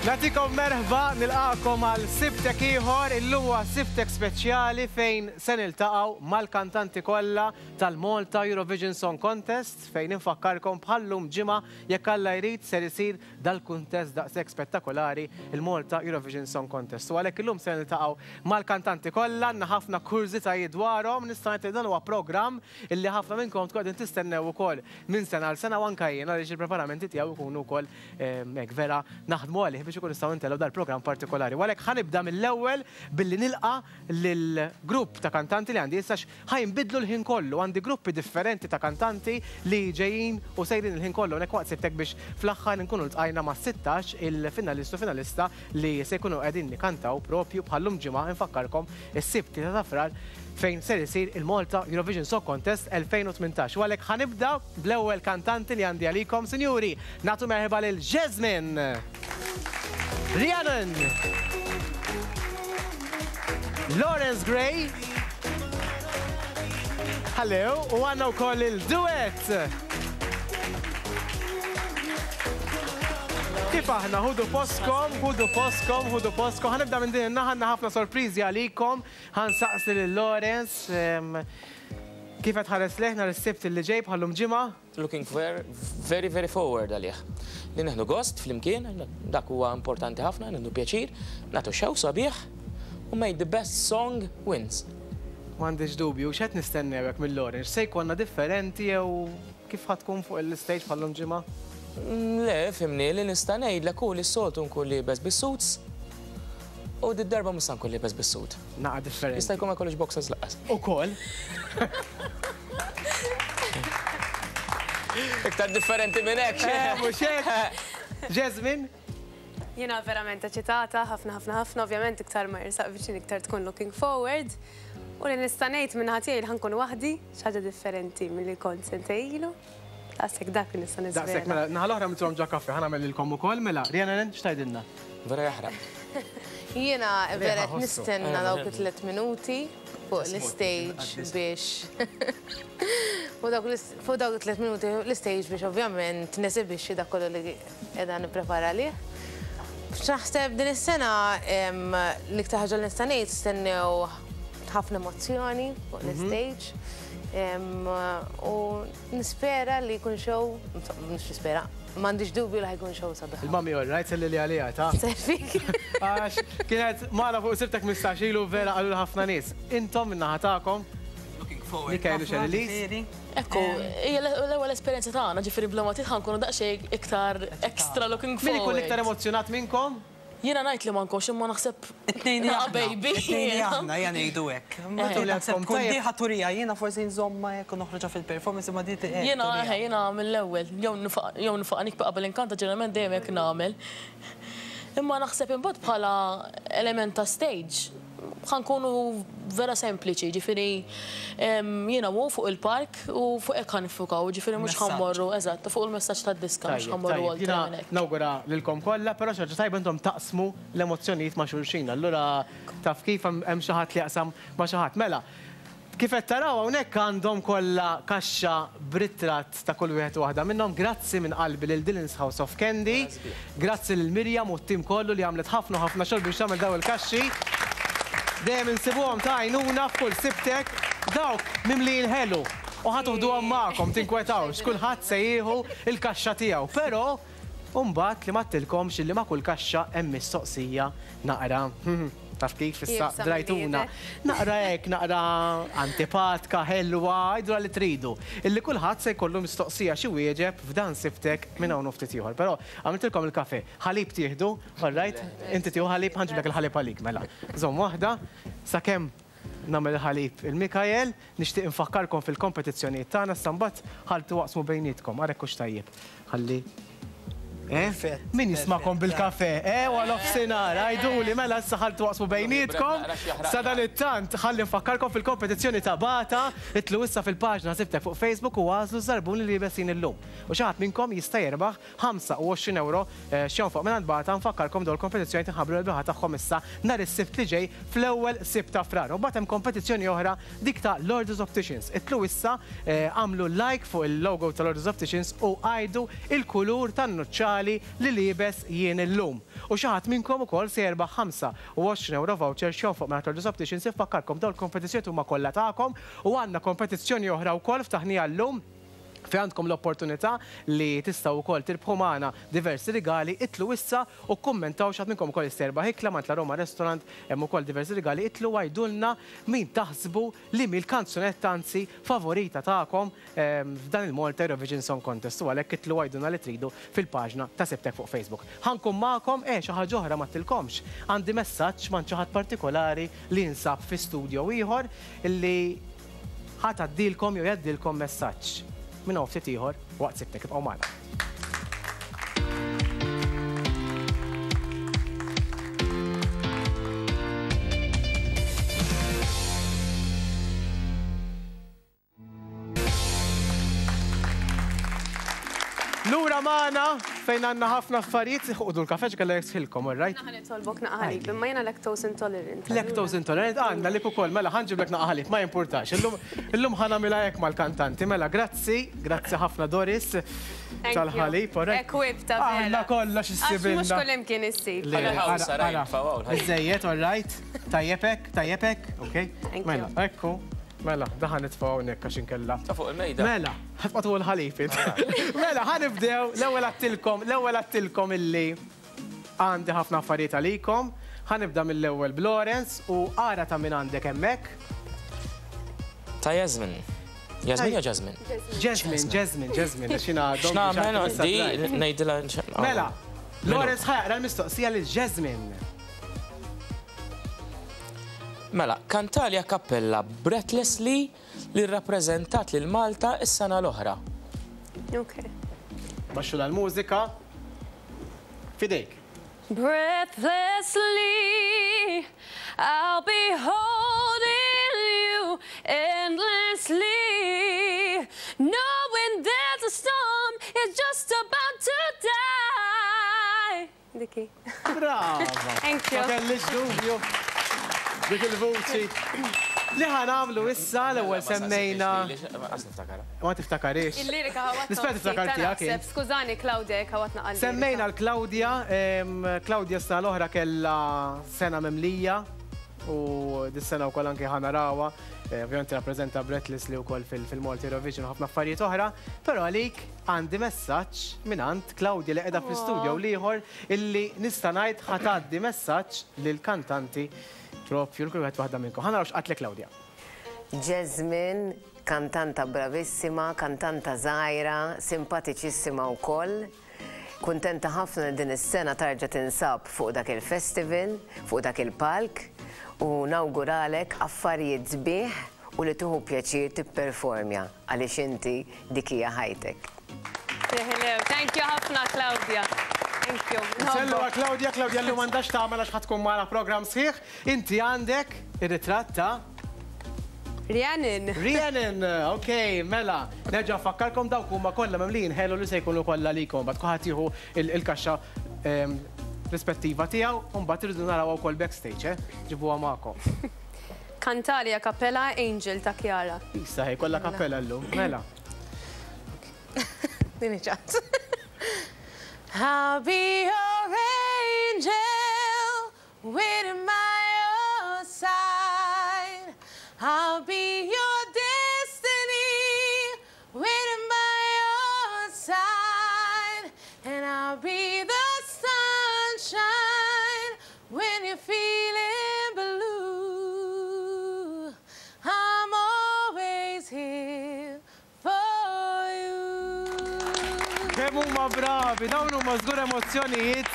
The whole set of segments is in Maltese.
Nagħtikom merħba, nilqagħkom għal Sibtek ieħor. Illum huwa Sibtek speċjali fejn se niltaqgħu mal-kantanti kollha tal-Malta Eurovision Song Contest fejn infakkarkom bħal-lum ġimgħa jekk Alla jrid ser isir dal-kuntest daqshekk spettakolari il-Malta Eurovision Song Contest. U għalhekk illum se niltaqgħu mal-kantanti kollha, għandna ħafna kurżitajiet dwarhom, nista' ngħid li dan huwa programm illi ħafna minnkom tkunu qegħdin tistennew ukoll minn sena għal sena u anke jien għaliex il-preparamenti tiegħu jkunu wkoll hekk vera naħdmu għalih biex ikun nistgħu ntellgħu dal-programm partikolari. U għalhekk ħa nibda mill-ewwel billi nilqa' lill-grupp ta' kantanti li għandi issa ħa jinbidlu l-ħin kollu. Għandi gruppi differenti ta' kantanti li ġejjin u sejrin il-ħin kollu hawnhekk waqt sibtek biex fl-aħħar inkunu ltqajna ma' 16 il-finalist u finalista li se jkunu qegħdin ikantaw propju bħal-lum ġimgħa infakkarkom is-Sibt 3 ta' Frar fejn ser isir il-Malta Eurovision Song Contest 2018. U għalhekk ħa nibda bl-ewwel kantanti li għandi għalikom, sinjuri, nagħtu merħba lil Jasmine! Rhiannon! Lawrence Gray! Hello, u għandna wkoll il-duet! Kif aħna, ħudu postkom, ħudu postkom, ħudu postkom. Ħa nibda minn din in-naħa, għandna ħafna sorpriżi għalikom. Ħa nsaqsi lil Lawrence, kif qed tħares lejh nhar is-Sibt li ġej bħal-lum ġimgħa? Looking very very forward għalih. Li nieħdu gost flimkien, dak huwa importanti ħafna, nieħdu pjaċir, nagħtu show sabiħ u may the best song wins. M'għandix dubju, x'qed nistennew hekk minn Lawrence? X'se jkollna differenti jew kif ħa tkun fuq l-istage bħal-lum ġimgħa? Le, fhimni, li nista' ngħidlek hu li s-soltu nkun liebes bis-suits u did-darba mhux se nkun liebes bis-suit. Naqa' differenti. Jista' jkun ma jkollix boxers lanqas. Ukoll. Iktar differenti minn hekk. Eh, mhux hekk. Jasmine? Jiena verament eċitata, ħafna ħafna ħafna, ovvjament iktar ma jersaq viċin iktar tkun looking forward. U li nista' ngħid minn naħa tiegħi li ħa nkun waħdi, xi ħaġa differenti milli kont sentejn ilu. Daqshekk dak li nista' niżvela. Daqshekk mela, naħa l-oħra għamiltilhom ġo kafè, ħa nagħmel lilkom ukoll mela. Rhiannon, x'tgħidilna? Vera jaħraq. Jiena vera qed nistenna dawk it-tliet minuti fuq l-istage biex fuq dawk it-tliet minuti fuq l-istage biex ovvjament nesibixxi dak kollu li qiegħda nipprepara għalih. X'naħseb din is-sena l-iktar ħaġa li nista' ngħid stennew ħafna emozzjoni fuq l-istage. U nispera li jkun show, mhux nispera, m'għandix dubju li ħa jkun show sabiħ. Il-mami all right, sellili għaliha, ta? Selfik. Għax kienet magħna fuq Sibtek 15 ilu vera qalulu ħafna nies. Intom min-naħa tagħkom? Looking forward. Mikael u Sherry-Lise. Ekku, hija l-ewwel esperjenza tagħna, ġifieri bla ma trid ħa nkunu daqsxejn iktar extra looking Min ikun forward. l-iktar emozzjonat minnkom? Jiena ngħid li ma nkunx imma naħseb It-tnejn li naqa' aħna. baby. It-tnejn li aħna, ejja ngħidu hekk. Intom li Naħseb għandkom tkun tajjeb. diħa turija, jiena forsi nżommha hekk u noħroġha fil-performance imma di hekk Jiena turija. eħe, jiena mill-ewwel, jew nifaq jew nifaq nikbi qabel inkanta ġeneralment dejjem hekk nagħmel. Imma naħseb imbagħad bħala element ta' stage ħa nkunu vera sempliċi, ġifieri jiena u hu fuq il-park u fuq hekk ħa niffukaw, ġifieri mhux ħa mmorru, eżatt, fuq il-messaġġ tad-diska mhux ħa mmorru oltre minn hekk. Jiena nawgura lilkom kollha, però xi ħaġa tajba intom taqsmu l-emozzjonijiet ma' xulxin, allura taf kif hemm xi ħadd li jaqsam ma' xi ħadd. Mela, Kif qed taraw hawnhekk għandhom kollha kaxxa b'ritratt ta' kull wieħed u waħda minnhom. Grazzi minn qalbi lil Dylan's House of Candy. Grazzi lil Miriam u t-tim kollu li għamlet ħafna u ħafna xogħol biex tagħmel dawn il-kaxxi. Dejjem insibuhom ta' għajnuna f'kull sibtek. Dawk mimlijin ħelu u ħa tuħduhom magħkom, tinkwetawx, kulħadd se jieħu l-kaxxa tiegħu. Però U mbagħad li m'għedtilkomx illi ma' kull kaxxa hemm mistoqsija naqra, taf kif issa drajtuna, naqra hekk, naqra antipatka, ħelwa, għidulha li tridu. Illi kulħadd se jkollu mistoqsija x'iwieġeb f'dan sibtek minn hawn u ftit ieħor. Però għamiltilkom il-kafè. Ħalib tieħdu, all right? Inti tieħu ħalib, ħa nġiblek il-ħalib għalik mela. Żomm waħda sakemm nagħmel il-ħalib il-Mikael. Nixtieq infakkarkom fil-kompetizzjonijiet tagħna issa mbagħad ħaltu waqsmu bejnietkom, ara hekk hux tajjeb. Ħalli Eh? Min jismakom bil-kafe? Eh, wara nofsinhar, għiduli mela issa ħaltu waqsmu bejnietkom. Sadanittant, ħalli nfakkarkom fil-kompetizzjoni ta' Bata, itlu issa fil-paġna Sibtek fuq Facebook u għażlu ż-żarbun li liebesin illum. U xi ħadd minnkom jista' jerbaħ 25 ewro x'jonfoq mingħand Bata, nfakkarkom dawn il-kompetizzjonijiet inħabbru l-rebbieħa tagħhom issa nhar is-Sibt li ġej fl-ewwel Sibt ta' Frar. U mbagħad hemm kompetizzjoni oħra dik ta' Lourdes Opticians. Idħlu issa, agħmlu like fuq il-logo ta' Lourdes Opticians u għidu il-kulur tan-nuċċali. rigali li liebes jien illum. U xi ħadd minnkom ukoll se jerbaħ 25 ewro voucher x'jonfoq mingħand Lordi's Opticians. Infakkarkom dawn il-kompetizzjonijiet huma kollha tagħkom u għandna kompetizzjoni oħra wkoll ftaħniha llum fejn għandkom l-opportunità li tistgħu wkoll tirbħu magħna diversi rigali. Idħlu issa u kkummentaw xi ħadd minnkom ukoll jista' jerbaħ ikla m'għand La Roma Restaurant, hemm ukoll diversi rigali. Idħlu u għidulna min taħsbu li mhi l-kanzunetta anzi favorita tagħkom f'dan il-Malta Eurovision Song Contest u għalhekk idħlu għidulna li tridu fil-paġna ta' Sibtek fuq Facebook. Ħa nkun magħkom, eh xi ħaġa oħra m'għedtilkomx, għandi messaġġ m'għand xi ħadd partikolari li jinsab fi studio ieħor li ħa tgħaddilkom jew jgħaddilkom messaġġ. Minn hawn ftit ieħor waqt Sibtek ibqgħu magħna. Lura magħna fejn għandna ħafna affarijiet, ħudu l-kafe ġkella jisħilkom, all right? Naħa nitolbok naqa ħalib, imma jiena lactose intolerant. Lactose intolerant, għandna lik ukoll, mela ħanġiblek naqa ħalib, ma jimpurtax. Illum ħa nagħmilha hekk mal-kantanti, mela grazzi, grazzi ħafna Doris tal-ħalib, all right? Equipped ta' vera. Għandna kollox issibilna. Għax mhux kullimkien issib. Biżżejjed, all right? Tajjeb hekk, tajjeb hekk, ok? Mela, ekku. Mela, da ħa nitfgħu hawnhekk għax inkella. Ta' fuq il-mejda. Mela, ħa tqgħod fuq il-ħalib int. Mela, ħa nibdew, l-ewwel għedtilkom, l-ewwel għedtilkom illi għandi ħafna affarijiet għalikom. Ħa nibda mill-ewwel b'Lawrence u ara ta' min għandek hemmhekk. Ta' Jasmine. Jasmine jew Jasmine? Jasmine, Jasmine, Jasmine, għax jiena għadhom. X'nagħmel di ngħidilha. Mela, Lawrence ħa jaqra l-mistoqsija lil Jasmine. Mela, kantali a cappella Breathlessly li rrappreżentat lil Malta s-sena l-oħra. Ok. Baxxu l-mużika. F'idejk. Breathlessly, I'll be holding you endlessly, knowing that the storm is just about to die. Diki. Brava! Thank you. Ma kellix dubju. Dik il-vuċi. Li ħa nagħmlu issa l-ewwel semmejna. Ma tiftakarix. Il-lirika ħawatna. Nispera tiftakar tiegħek int. Skużani Claudia jekk ħawatna qalbi. Semmejna l-Claudia, Claudia s-sena l-oħra kellha sena mimlija u dis-sena wkoll anke ħa narawha. Ovvjament tirrappreżenta Breathless li wkoll fil-Malta Eurovision u ħafna affarijiet oħra, però għalik Għandi messaġġ mingħand Claudia li qiegħda fl-istudio u l-ieħor illi nista' ngħid ħa tgħaddi messaġġ lill-kantanti propju lil kull wieħed waħda minnkom. Ħa naraw x'qatlek Claudia. Jasmine, kantanta bravissima, kantanta żgħira, simpatiċissima wkoll. Kuntenta ħafna li din is-sena tarġa' tinsab fuq dak il-festival, fuq dak il-palk u nawguralek affarijiet sbieħ u li tieħu pjaċir tipperformja għaliex inti dik hija ħajtek. Thank you ħafna Claudia. Thank you. Nsellu għal Claudia, Claudia llum m'għandha x'tagħmel għax ħa tkun magħna programm sħiħ. Inti għandek ir-ritratt ta' Rhiannon. Rhiannon, ok, mela. Nerġa' nfakkarkom dawk huma kollha mimlijin ħelu li se jkunu kollha għalikom. Mbagħad kulħadd jieħu il-kaxxa rispettiva tiegħu u mbagħad irridu narawha wkoll backstage, eh? Ġibuha magħkom. Kantali a cappella Angel ta' Chiara. Issa hi kollha cappella llum. Mela. Din hi ċans. I'll be your angel waiting by your side. I'll be your destiny waiting by your side. And I'll be the sunshine when you're feeling blue. I'm always here for you. Kemm huma bravi, dawn huma żgur emozzjonijiet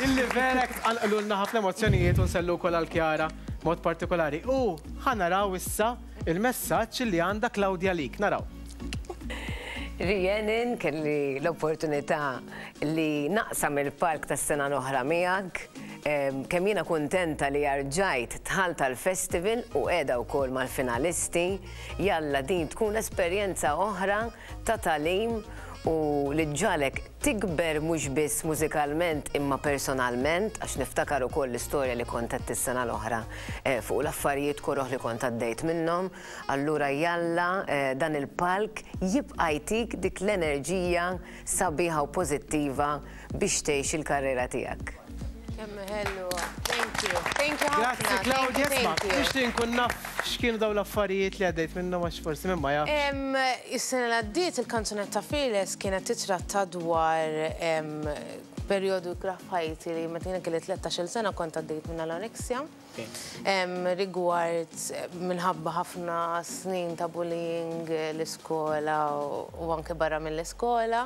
illi vera hekk tqanqlulna ħafna emozzjonijiet u nsellu wkoll għal Chiara mod partikolari. U ħa naraw issa il-messaġġ li għandha Claudia għalik. Naraw. Rhiannon, kelli l-opportunità li naqsam il-palk tas-sena l-oħra miegħek. Kemm jiena kuntenta li rġajt dħalt għall-festival u qiegħda wkoll mal-finalisti. Jalla din tkun esperjenza oħra ta' tagħlim u li ġġagħlek tikber mhux biss mużikalment imma personalment għax niftakar ukoll l-istorja li kont għedt is-sena l-oħra fuq l-affarijiet koroh li kont għaddejt minnhom. Allura jalla dan il-palk jibqa' jtik dik l-enerġija sabiħa u pożittiva biex tgħix il-karriera tiegħek. Kemm ħelwa. Thank you. Thank you ħafna. Grazzi Claudia, isma' nixtieq inkun naf x'kienu dawn l-affarijiet li għaddejt minnhom għax forsi min ma jafx. Is-sena li għaddiet il-kanzunetta Fearless kienet titratta dwar perjodu ikrah f'ħajti li meta jiena kelli 13-il sena kont għaddejt minn anorexia. Rigward minħabba ħafna snin ta' bullying l-iskola u anke barra mill-iskola.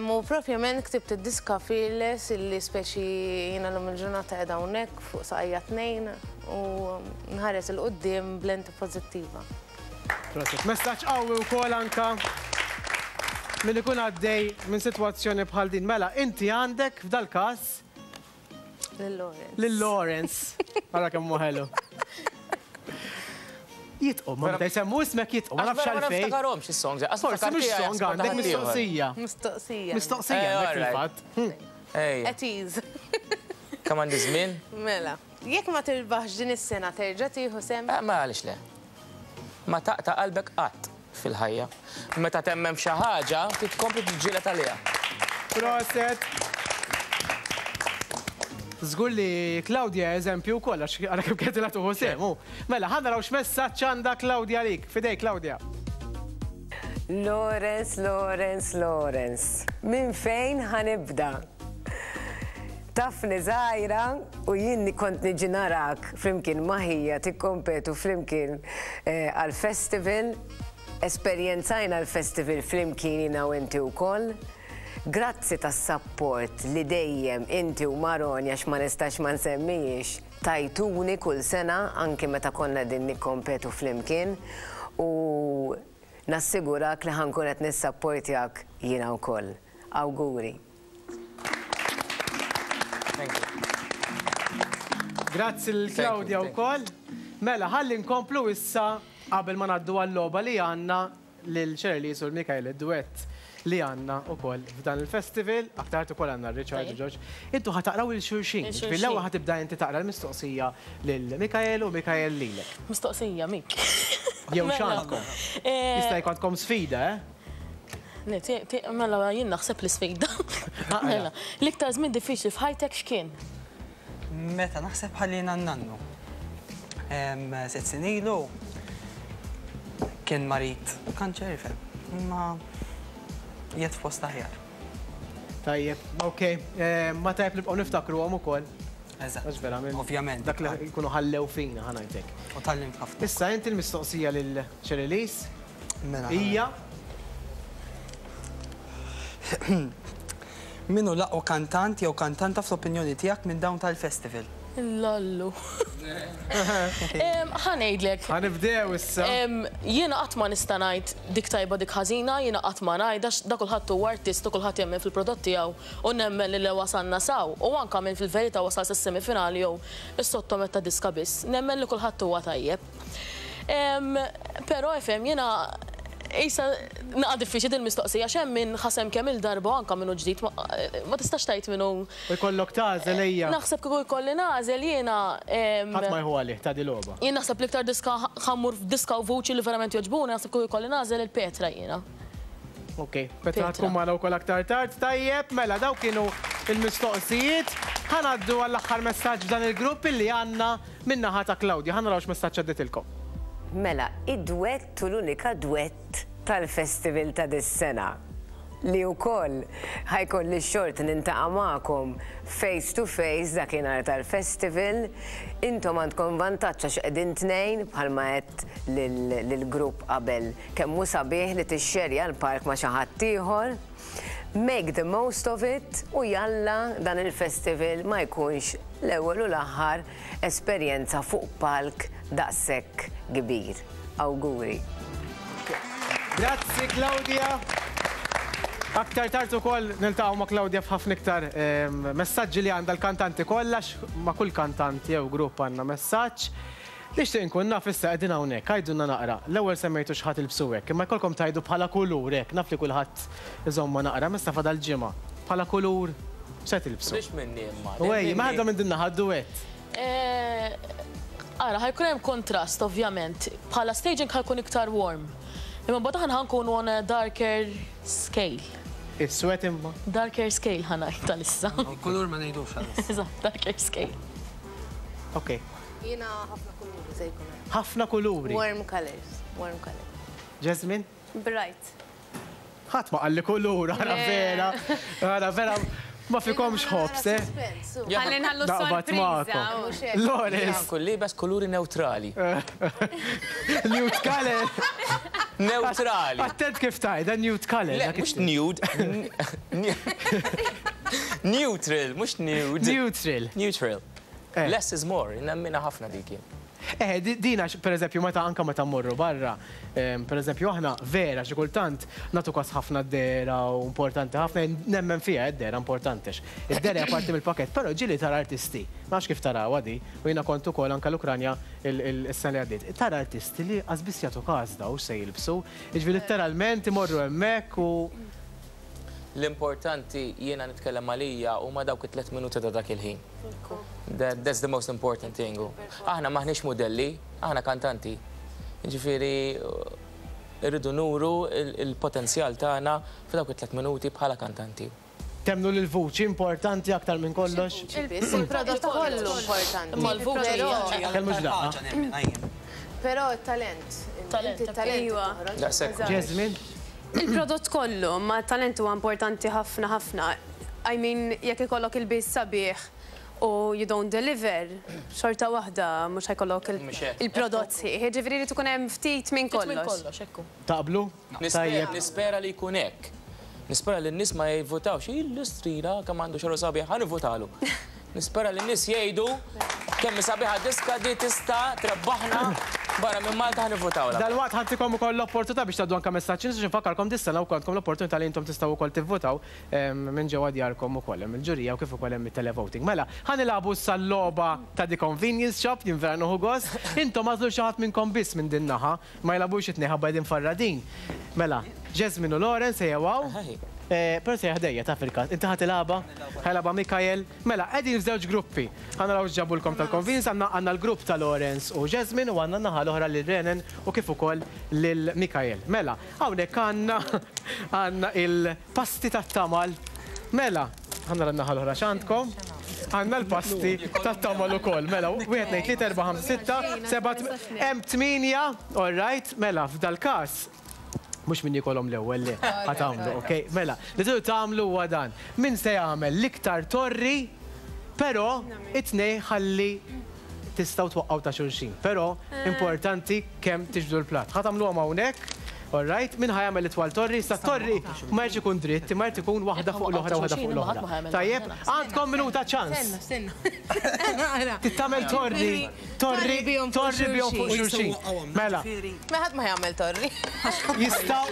U propjament ktibt id-diska Fearless illi speċi jiena llum il-ġurnata qiegħda hawnhekk fuq saqajja tnejn u nħares 'il quddiem b'lenti pożittiva. Proset. Messaġġ qawwi wkoll anka min ikun għaddej minn sitwazzjoni bħal din. Mela, inti għandek f'dal-każ Lil Lawrence. Lil Lawrence. Ara kemm hu ħelu. Jitqu, ma meta jsemmu ismek jitqu, ma nafx Ma għalfejn. niftakarhomx is-songs. Forsi mhux song għandek mistoqsija. Mistoqsija. Mistoqsija Eh, għandek alright. fil-fatt. Ejja, At ease. kemm għandi żmien? Mela, jekk ma tirbaħx din is-sena terġa' tieħu sehem? Eh, Ma għaliex le. Ma taqta' qalbek qatt fil-ħajja. Meta temmen f'xi ħaġa, trid tkompli tiġġieled għaliha. Proset. Żgur li Claudia eżempju wkoll għax għara kemm kienet ilha tuħu sehem hu. Mela, ħa naraw x'messaġġ għandha Claudia għalik. F'idejk Claudia. Lawrence, Lawrence, Lawrence. Minn fejn ħa nibda? Tafni żgħira u jien kont niġi narak flimkien ma' ħija tikkompetu flimkien għall-festival. Esperjenzajna l-festival flimkien jiena u inti wkoll. Grazzi tas-sapport li dejjem inti u Maroni, għax ma nistax ma nsemmihiex, tajtuni kull sena anki meta konna qegħdin nikkompetu flimkien u nassigurak li ħa nkun qed nissapportjak jiena wkoll. Awguri. Thank you. Grazzi lil Claudia wkoll. Mela, ħalli nkomplu issa qabel ma ngħaddu għal-logħba li għandna lil Shirley u Mikael id-duett li għandna wkoll f'dan il-festival, aktar tard ukoll għandna Richard u George. Intu ħa taqraw lil xulxin. Lil Ġifieri l-ewwel xulxin. ħa tibda inti taqra l-mistoqsija lil Mikael u Mikael lilek. Mistoqsija, Mik. Jew Mela. x'għandkom? Jista' jkollkom sfida, eh? Le, mela jien naħseb li sfida. Aqra. Mela, l-iktar żmien diffiċli f'ħajtek x'kien? Meta naħseb ħallina n-nannu. 6 snin ilu kien marid kanċer, ifhem. Imma qiegħed f'post aħjar. Tajjeb, ok. Ma tajjeb nibqgħu niftakruhom ukoll. Eżatt. Għax verament. Ovvjament. Dak li jkunu ħallew fina, ħa ngħidlek. U tgħallimt ħafna. Issa inti l-mistoqsija lil Cherylis Mela. hija Min hu l-aqwa kantant jew kantanta fl-opinjoni tiegħek minn dawn tal-festival? Lallu. Ħa ngħidlek. Ħa nibdew issa. Jiena qatt ma nista' ngħid dik tajba dik ħażina, jiena qatt ma ngħid għax da kulħadd huwa artist u kulħadd jemmen fil-prodott tiegħu u nemmen li wasalna saw u anke minn fil-verità wasal sas-semifinali jew is-sottometta diska biss. Nemmen li kulħadd huwa tajjeb. Però ifhem jiena Isa, naqa diffiċli din mistoqsija x'hemm min ħasem kemm il-darba anke minnu ġdid ma tistax tgħid minnu. U jkollok tagħżel ejja. Naħseb kieku jkolli nagħżel jiena. Ħadd ma jħu għalih ta' di logħba. Jien naħseb l-iktar diska ħa mmur f'diska u vuċi li verament jogħġbuni, naħseb kieku jkolli nagħżel il-Petra jiena. Ok, Petra tkun magħna wkoll aktar tard. Tajjeb, mela daw kienu il-mistoqsijiet. Ħa ngħaddu għall-aħħar messaġġ f'dan il-grupp illi għandna min-naħa ta' Claudia. Ħa naraw x'messaġġ għadditilkom. Mela, id-dwett u l-unika dwett tal-festival ta' dis-sena li wkoll ħa jkolli x-xorti niltaqa' magħkom face to face dakinhar tal-festival. Intom għandkom vantaġġ għax qegħdin tnejn bħalma għedt lill-grupp qabel kemm hu sabiħ li tixxerja l-palk ma' xi ħadd ieħor. Make the most of it u jalla dan il-festival ma jkunx l-ewwel u l-aħħar esperjenza fuq palk daqshekk kbir. Awguri. Grazzi Claudia. Aktar tard ukoll niltaqgħu ma' Claudia f'ħafna iktar messaġġi li għandha l-kantanti kollha ma' kull kantant jew grupp għandna messaġġ. Nixtieq inkun naf issa qegħdin hawnhekk, għidulna naqra, l-ewwel semmejtu x'ħa tilbsu hekk, imma jkollkom tgħidu bħala kulur hekk, naf li kulħadd iżommha naqra, imma issa fadal ġimgħa. Bħala kulur x'se tilbsu? Mhux minni imma. U ejja, mela ħadha minn din naħa d-duett. Ara, ħa jkun hemm kontrast ovvjament. Bħala staging ħa jkun iktar warm. Imma mbagħad aħna ħa nkunu on a darker scale. Iswed imma? Darker scale ħa ngħid għalissa. Il-kulur ma ngħidux għalissa. Eżatt, darker scale. Ok. Jiena ħafna kuluri se jkun hemm. Ħafna kuluri. Warm colors, warm colors. Jasmine? Bright. Ħadd ma qalli kulur, ara vera. Ara vera, ma fikomx ħobs, eh? Ħalli nħallu Naqbad sorpriża. magħkom. Loris. Kull libes kuluri neutrali. Nude color. Neutrali. Attent kif tajda, nude color. Le, mhux nude. Neutral, mhux nude. Neutral. Neutral. Eh. Less is more, nemmina ħafna dik jien. Eh, dina, per eżempju, meta anka meta mmorru barra, per eżempju, aħna vera xi kultant nagħtu kas ħafna d-dehra u importanti ħafna, nemmen fiha d-dehra importanti. Id-dehra hija parti mill-pakett, però ġieli tara artisti, ma nafx kif tarawha di, u jiena kont ukoll anka l-Ukranja is-sena li għaddiet, tara artisti li qas biss jagħtu kas daw x'se jilbsu, jiġifieri letteralment imorru hemmhekk u L-importanti jiena nitkellem għalija huma dawk it-tlet minuti ta' dak il-ħin. That's the most important thing. Aħna maħniex modelli, aħna kantanti. Ġifieri irridu nuru il-potenzjal tagħna f'dawk it-tlet minuti bħala kantanti. Temmnu li l-vuċi importanti aktar minn kollox? Il-prodott kollu importanti. Imma l-vuċi Kellmux daqqa. Però il-talent. Talent, Il-talent. Iva. Daqshekk. Jasmine? Il-prodott kollu, ma talent huwa importanti ħafna ħafna. I mean, jekk ikollok il-bis sabiħ u you don't deliver, xorta waħda mhux ħa jkollok Mhux hekk. il-prodott sħiħ. Jiġifieri li tkun hemm ftit minn Minn kollox. kollox, ekku. Taqblu? Tajjeb. Nispera li jkun hekk. Nispera li n-nies ma jivvotawx, illustrina kemm għandu xogħol sabiħ, ħa nivvotalu. Nispera li n-nies jgħidu kemm sabiħa diska di tista' trebbaħna barra minn Malta ħa nivvotawla. Dal-waqt ħa ntikom ukoll l-opportunità biex tgħaddu anke messaġġ biex nfakkarkom dis-sena wkoll għandkom l-opportunità li intom tistgħu wkoll tivvotaw minn ġewwa djarkom ukoll hemm il-ġurija u kif ukoll hemm it-televoting. Mela, ħa nilagħbu issa l-logħba ta' The Convenience Shop, jien vera nieħu gost. Intom għażlu xi ħadd minnkom biss minn din naħa, ma jilagħbux it-tnejn ħabba qegħdin farradin. Mela, Jasmine u Lawrence ejjew hawn. Però se ħdejja ta' fil-każ. Inti ħa tilgħabha? Ħa jilgħabha Mikael. Mela, qegħdin f'żewġ gruppi. Ħa naraw x'ġabulkom tal-Convenience, għandna l-grupp ta' Lawrence u Jasmine u għandna n-naħa l-oħra lil Renan u kif ukoll lil Mikael. Mela, hawnhekk għandna għandna il-pasti tat-tamal. Mela, ħa nara n-naħa l-oħra x'għandkom. Għandna l-pasti tat-tamal ukoll. Mela, wieħed, tnejn, tlieta, erba', ħamsa, sitta, seba', hemm tmienja, all right, mela, f'dal-każ mhux min jikolhom l-ewwel li ħa tagħmlu, ok? Mela, li tridu tagħmlu huwa dan. Min se jagħmel l-iktar torri, però it-tnejn ħalli tistgħu twaqqgħu ta' xulxin. Però importanti kemm tiġbdu l-platt. Ħa tagħmluhom hawnhekk, all right? Min ħa jagħmel it-twal torri, sa torri ma jridx ikun dritt, imma jrid ikun waħda fuq l-oħra, waħda fuq l-oħra. Tajjeb, għandkom minuta ċans. Stenna, stenna. Tittamel torri, torri, torri bihom fuq xulxin. Mela. Ma ħadd ma jagħmel torri. Jistgħu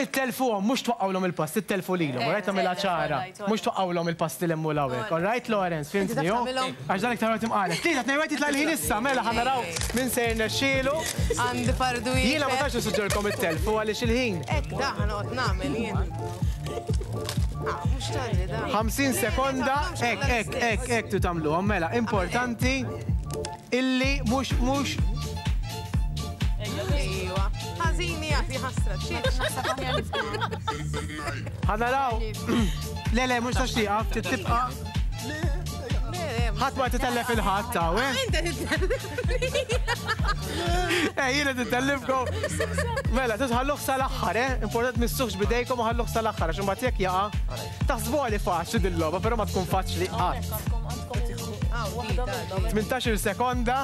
ittelfuhom, mhux twaqqgħulhom il-pasti, ittelfu lilhom, all right, tagħmilha ċara. Mhux twaqqgħulhom il-pasti l-hemm u l-hawnhekk, all right, Lawrence, fhimtni, jo? Għax dan iktar għod imqalek. Tlieta, tnejn, wieħed jitla' l-ħin issa, mela ħa naraw min se jirnexxielu. Għandi fardu Jiena ma tantx nissuġġerkom ittelfu għaliex il-ħin. Hekk da ħa noqgħod nagħmel jien. Ah, mhux torri da. 50 sekonda, hekk, hekk, hekk, hekk tu tagħmluhom, mela, importanti illi mhux mhux Ejwa. Ħażini jagħti ħasra. Ħa naraw. Le, le, mhux tax tieqaf, tibqa'. Ħadd ma titellef il-ħadd taw, eh? Inta titellef. Eh, jiena titellifkom. Mela, titħalluh sal-aħħar, eh? Important missuħx bidejkom u ħalluh sal-aħħar, għax imbagħad jekk jaqa' taħsbuha li faċli din-logħba, però ma tkun faċli qatt. 18 sekonda.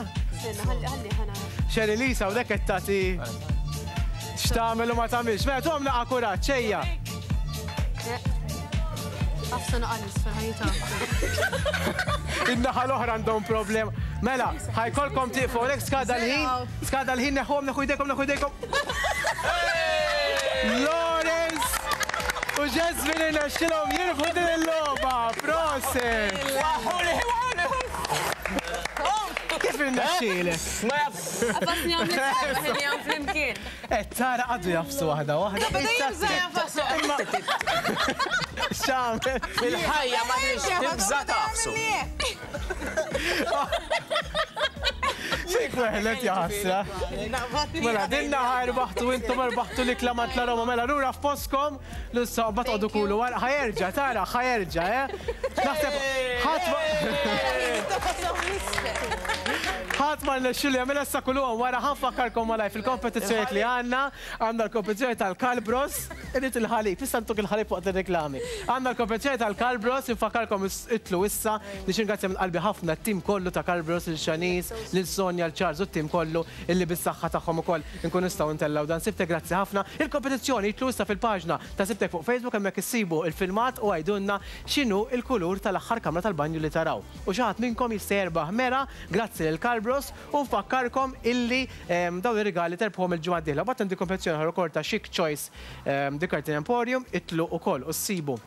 Xeri Lisa u dek qed tagħti x'tagħmel u ma tagħmilx. Mela tuhom naqa' kuraġġ, ejja. Għafsa naqalis fil-ħajta. In-naħa l-oħra għandhom problema. Mela, ħa jkollkom tieqfu hawnhekk skada l-ħin, skada l-ħin neħħuhom, neħħu jdejkom, neħħu jdejkom. Lawrence u Jasmine irnexxilhom jirbħu din il-logħba. Prosit! Kif irnexxielek? Ma jaf. Għafasni għam l-isbaħ għam flimkien. Eh, tara għadu jafsu waħda waħda. Bada jibża jafsu. X'għamel? Fil-ħajja ma tridx tibża tafsu. Xejk weħlet jaħasra. Mela, dinna ħarbaħtu intom erbaħtu l-ikla ma tla Roma. Mela, lura f'poskom, l-issa bat għodu kulu wara. Ħajerġa, tara, ħajerġa, eh? Naħseb, ħadd ma. Ħadd ma rnexxielu jagħmilha issa kulluhom wara ħa nfakkarkom malaj fil-kompetizzjonijiet li għandna, għandna l-kompetizzjoni tal-Kalbros, irid il-ħalib, issa ntuk il-ħalib waqt ir-reklami. Għandna l-kompetizzjoni tal-Kalbros, infakkarkom itlu issa, biex ringrazzja minn qalbi ħafna t-tim kollu ta' Kalbros, il-Xanis, lil Sonja, l-Charles u t-tim kollu illi bis-saħħa tagħhom ukoll inkun nistgħu ntellgħu dan Sibtek, grazzi ħafna. Il-kompetizzjoni itlu issa fil-paġna ta' Sibtek fuq Facebook hemmhekk issibu il-filmat u għidulna x'inhu il-kulur tal-aħħar kamra tal-banju li taraw. U xi ħadd minnkom jista' jerbaħ mera grazzi lil Kalbros u nfakkarkom illi dawn ir-rigali terbħuhom il-ġimgħa d-dieħla. Mbagħad għandi kompetizzjoni oħra wkoll ta' Chic Choice The Curtain Emporium, itlu ukoll u ssibu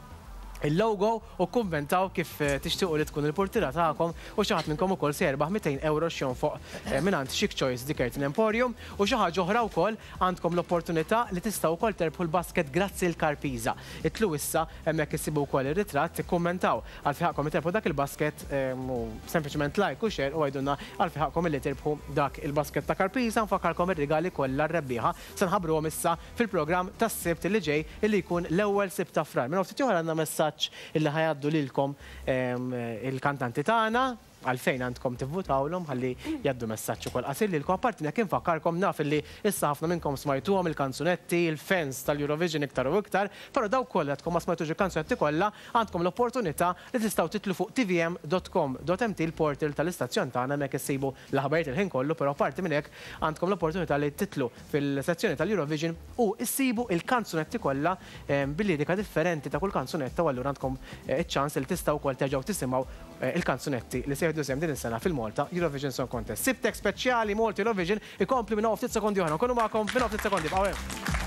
il-logo u kummentaw kif tixtiequ li tkun il-portira tagħkom u xi ħadd minnkom ukoll se jerbaħ 200 euro x'jonfoq mingħand Chic Choice The Curtain Emporium. U xi ħaġa oħra wkoll għandkom l-opportunità li tistgħu wkoll terbħu l-basket grazzi l-Karpiza. Itlu issa hemmhekk issibu wkoll ir-ritratt, ikkummentaw għal fi ħaqkom li terbħu dak il-basket u sempliċement like u share u għidulna għal fi ħaqkom li tirbħu dak il-basket ta' Karpiza. Nfakkarkom ir-rigali kollha r-rebbieħa se nħabbruhom issa fil-programm tas-Sibt li ġej illi jkun l-ewwel Sibt ta' Frar. Minn ftit oħra għandna messaġġ illi ħajaddu lilkom il-kantanti tagħna għalfejn għandkom tivvutawlhom ħalli jgħaddu messaġġ ukoll qasir lilkom. Apparti hekk infakkarkom naf illi issa ħafna minnkom smajtuhom il-kanzunetti, il-fans tal-Eurovision iktar u iktar, però dawk kollha għadkom ma smajtux il-kanzunetti kollha għandkom l-opportunità li tistgħu titlu fuq tvm.com.mt il-portal tal-istazzjon tagħna hemmhekk issibu l-aħbarijiet il-ħin kollu, però apparti minn hekk għandkom l-opportunità li titlu fil-sezzjoni tal-Eurovision u issibu il-kanzunetti kollha bil-lirika differenti ta' kull kanzunetta u allura għandkom iċ-ċans li tistgħu wkoll terġgħu tisimgħu il-kanzunetti li se jieħdu sehem din is-sena fil-Malta Eurovision Song Contest. Sibtek speċjali Malta Eurovision ikompli minn hawn ftit sekondi oħra. Nkunu magħkom minn hawn ftit sekondi. Bqgħu hemm.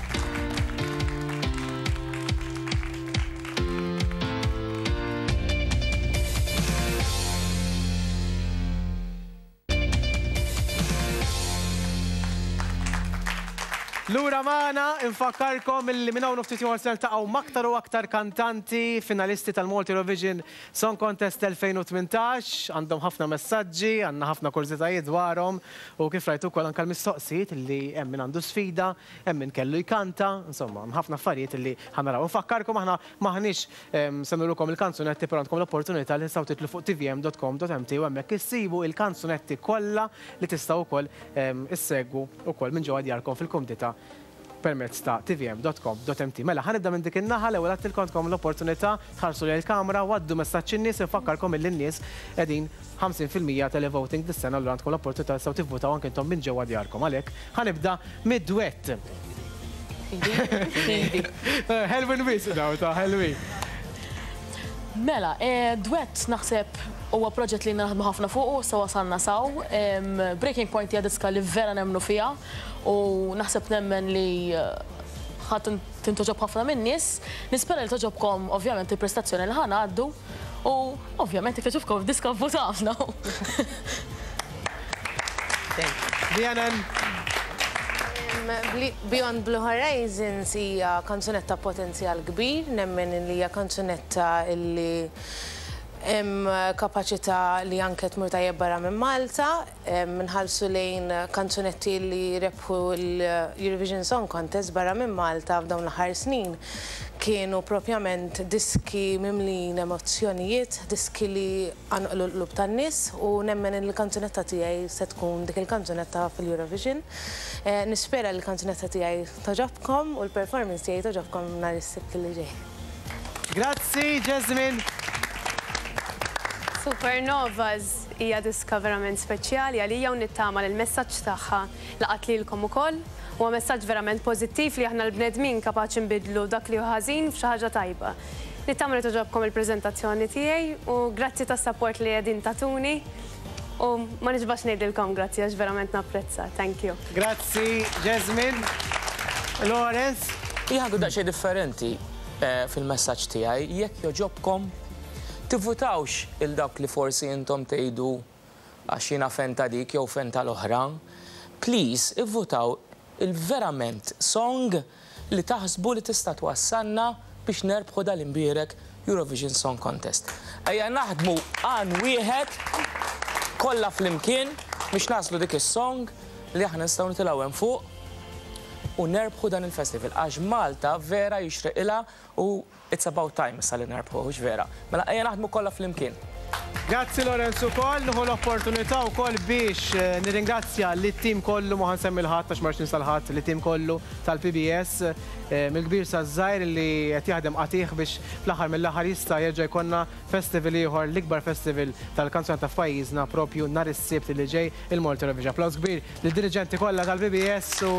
Lura magħna, infakkarkom illi minn hawn ftit ieħor se niltaqgħu m'aktar u aktar kantanti finalisti tal-Malta Eurovision Song Contest 2018, għandhom ħafna messaġġi, għandna ħafna kurżitajiet dwarhom u kif rajtu wkoll anke l-mistoqsijiet illi hemm min għandu sfida, hemm min kellu jkanta, insomma, hemm ħafna affarijiet illi ħa naraw. Infakkarkom aħna m'aħniex se nurukom il-kanzunetti però għandkom l-opportunità li tistgħu titlu fuq tvm.com.mt u hemmhekk issibu il-kanzunetti kollha li tistgħu wkoll issegwu wkoll minn ġewwa djarkom fil-kumdità permezz ta' tvm.com.mt. Mela, ħa nibda minn dik in-naħa, l-ewwel għattilkom għandkom l-opportunità tħarsu lejn il-kamera u għaddu messaġġ in-nies, infakkarkom illi n-nies qegħdin 50% televoting dis-sena, allura għandkom l-opportunità tistgħu tivvutaw anke intom minn ġewwa djarkom. Għalhekk ħa nibda mid-dwett. Ħelwin wisq daw ta' ħelwin. Mela, dwett naħseb huwa proġett li naħdmu ħafna fuqu, issa wasalna saw. Breaking Point hija diska li vera nemmnu fiha u naħseb nemmen li ħadd tintoġob ħafna min-nies. Nispera li toġobkom ovvjament il-prestazzjoni li ħa ngħaddu u ovvjament jekk toġobkom id-diska vvutawna. Dianen. Beyond Blue Horizons hija kanzunetta potenzjal kbir, nemmen li hija kanzunetta li hemm kapaċità li anke tmur tajjeb barra minn Malta, nħallsu lejn kanzunetti li rebħu l-Eurovision Song Contest barra minn Malta f'dawn l-aħħar snin. Kienu propjament diski mimlin emozzjonijiet, diski li qanqlu l-qlub tan-nies u nemmen li l-kanzunetta tiegħi se tkun dik il-kanzunetta fil-Eurovision. Nispera li l-kanzunetta tiegħi toġobkom u l-performance tiegħi toġobkom nhar is-Sibt li ġej. Grazzi, Jasmine. Supernovas hija diska verament speċjali għalija u nittama li l-messaġġ tagħha laqat lilkom ukoll. Huwa messaġġ verament pożittiv li aħna l-bnedmin kapaċi nbidlu dak li hu ħażin f'xi ħaġa tajba. Nittama li toġobkom il-preżentazzjoni tiegħi u grazzi tas-support li qegħdin tatuni u ma nixbax ngħidilkom grazzi għax verament napprezza. Thank you. Grazzi, Jasmine. Lawrence. Jien ħa nkun daqsxejn differenti fil-messaġġ tiegħi, jekk joġobkom tivvutawx il dawk li forsi intom tgħidu għax jiena fan ta' dik jew fan tal-oħra. Please, ivvutaw il-verament song li taħsbu li tista' twassalna biex nerbħu dal-imbierek Eurovision Song Contest. Ejja naħdmu għan wieħed kollha flimkien biex naslu dik is-song li aħna nistgħu nitilgħu hemm fuq u nerbħu dan il-festival għax Malta vera jixreqilha u it's about time issa li nerbħu, hux vera. Mela ejja naħdmu kollha flimkien. Grazzi Lorenz ukoll, nieħu l-opportunità wkoll biex nirringrazzja lit-tim kollu, ma ħa nsemmi 'l ħadd għax ma rridx ninsa 'l ħadd, lit-tim kollu tal-PBS, mill-kbir saż-żgħir li qed jaħdem qatigħ biex fl-aħħar mill-aħħar jista' jerġa' jkollna festival ieħor, l-ikbar festival tal-kanzunetta f'pajjiżna propju nhar is-Sibt li ġej, il-Malta Eurovision. Applaws kbir lid-diriġenti kollha tal-PBS u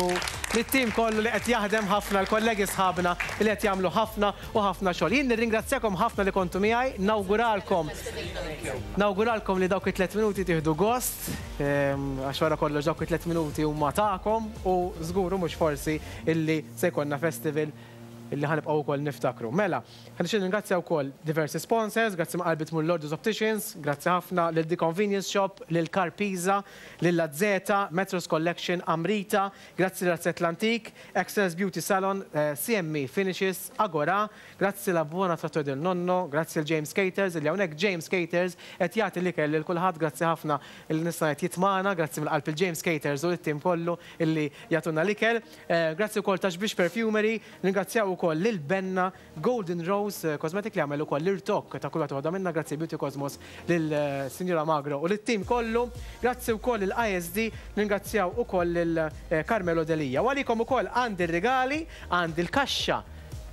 lit-tim kollu li qed jaħdem ħafna, l-kollegi sħabna li qed jagħmlu ħafna u ħafna xogħol. Jien nirringrazzjakom ħafna li kontu miegħi, nawguralkom nawguralkom li dawk it-tlet minuti tieħdu gost, għax wara kollox dawk it-tlet minuti huma tagħkom u żgur u mhux forsi illi se jkollna festival illi ħa nibqgħu wkoll niftakru. Mela, ħa nixtieq nirringrazzja wkoll diversi sponsors, grazzi ma' qalbi tmur Lordus Opticians, grazzi ħafna lil The Convenience Shop, lil Carpisa, lil Azzeta, Metros Collection, Amrita, Grazzi Razzett l-Antik, Excellence Beauty Salon, CME Finishes, Agora, grazzi La Buona Trattoria del Nonno, grazzi lil James Caters illi hawnhekk James Caters qed jagħti l-ikel lil kulħadd, grazzi ħafna illi nista' ngħid jitmagħna, grazzi mill-qalb lil James Caters u lit-tim kollu illi jagħtuna l-ikel. Grazzi wkoll ta' Xbiex Perfumery, nirringrazzjaw ukoll lil Benna Golden Rose Cosmetic li għamel ukoll l-irtokk ta' kull waħda waħda minna, grazzi Beauty Cosmos lil Sinjura Magro u lit-tim kollu, grazzi wkoll lil ISD, nirringrazzjaw ukoll lil Carmelo Delia. U għalikom ukoll għandi r-rigali, għandi l-kaxxa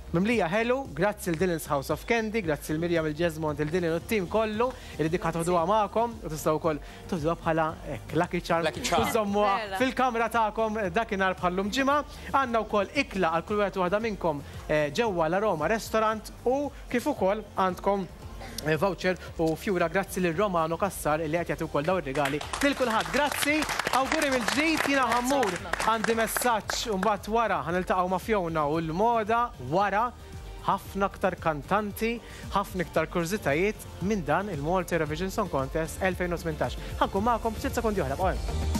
mimlija ħelu, grazzi lil Dylan's House of Candy, grazzi lil Miriam il-Jesmond, lil Dylan u t-tim kollu li dik ħa toħduha magħkom u tistgħu wkoll Tużuha bħala hekk, lucky charm. Lucky charm. U żommuha fil-kamra tagħkom dakinhar bħal-lum ġimgħa. Għandna wkoll ikla għal kull wieħed u waħda minnkom ġewwa l-Aroma Restaurant u kif ukoll għandkom voucher u fjura grazzi lil Romano Cassar li qed jagħti wkoll dawn ir-rigali lil kulħadd. Grazzi, awguri mill-ġdid, jiena ħa mmur għandi messaġġ u mbagħad wara ħa niltaqgħu ma' Fiona u l-moda wara. Ħafna aktar kantanti, ħafna iktar kurżitajiet minn dan il-Malta Eurovision Song Contest 2018. Ħa nkun magħkom ftit sekondi oħra, bqgħu hemm.